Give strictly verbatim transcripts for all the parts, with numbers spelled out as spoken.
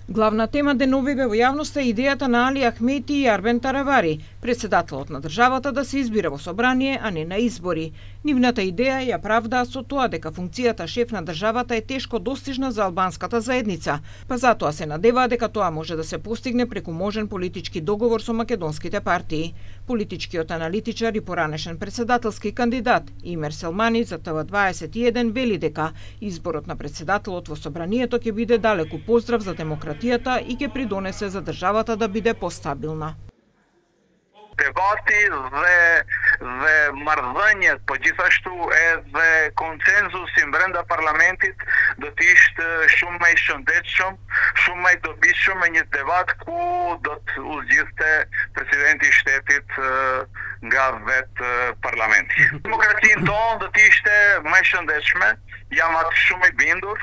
Главна тема деновиве во јавноста е идејата на Али Ахмети и Арбен Таравари, председателот на државата, да се избира во собрание, а не на избори. Нивната идеја ја правдаа со тоа дека функцијата шеф на државата е тешко достижна за албанската заедница, па затоа се надеваа дека тоа може да се постигне преку можен политички договор со македонските партии. Политичкиот аналитичар и поранешен председателски кандидат Имер Селмани за Т В дваесет и еден вели дека изборот на председателот во собранието ќе биде далеку поздрав за демократијата и ќе придонесе за државата да биде постабилна. Debati dhe dhe marrëdhëniet, po gjithashtu edhe konsenzusi brenda parlamentit do të ishte shumë më i shëndetshëm, shumë më i dobishëm me një debat ku do të uzgjidhte presidenti i shtetit nga vetë parlamenti. Demokracinë tonë do të ishte më e shëndetshme, jam atë shumë i bindur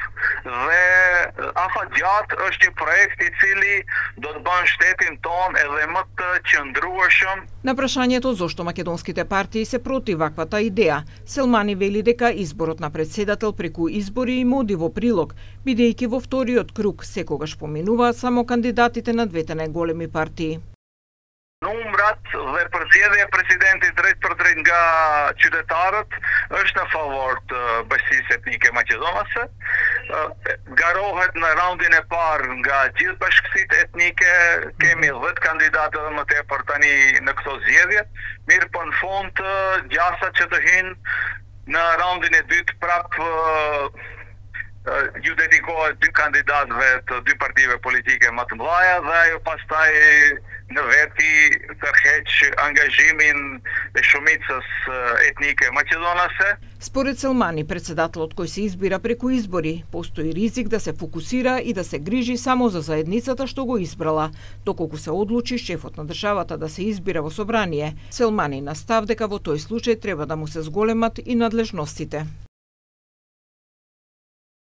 dhe afatgjatë është një projekt i cili do të bën shtetin tonë edhe më të qëndrueshëm. На прашањето зошто македонските партии се против ваквата идеја, Селмани вели дека изборот на председател преку избори им оди во прилог, бидејќи во вториот круг секогаш поминуваат само кандидатите на двете најголеми партии. Numrat dhe përzgjedhja e presidentit drejt për drejt nga qytetarët është në favor të bashkisë etnike maqedonase. Garohet në raundin e parë nga gjithë bashkësitë etnike, kemi dhjetë kandidatë dhe më tepër tani në këto zgjedhje. Mirë po në fund gjasa që të hinë në raundin e dytë prapë ju dedikohet dy kandidatëve të dy partive politike më të mëdha dhe ajo pastaj në veti tërheq angazhimin e shumicës etnike maqedonase. Според Селмани, председателот кој се избира преку избори, постои ризик да се фокусира и да се грижи само за заедницата што го избрала, доколку се одлучи шефот на државата да се избира во собрание. Селмани настав дека во тој случај треба да му се зголемат и надлежностите.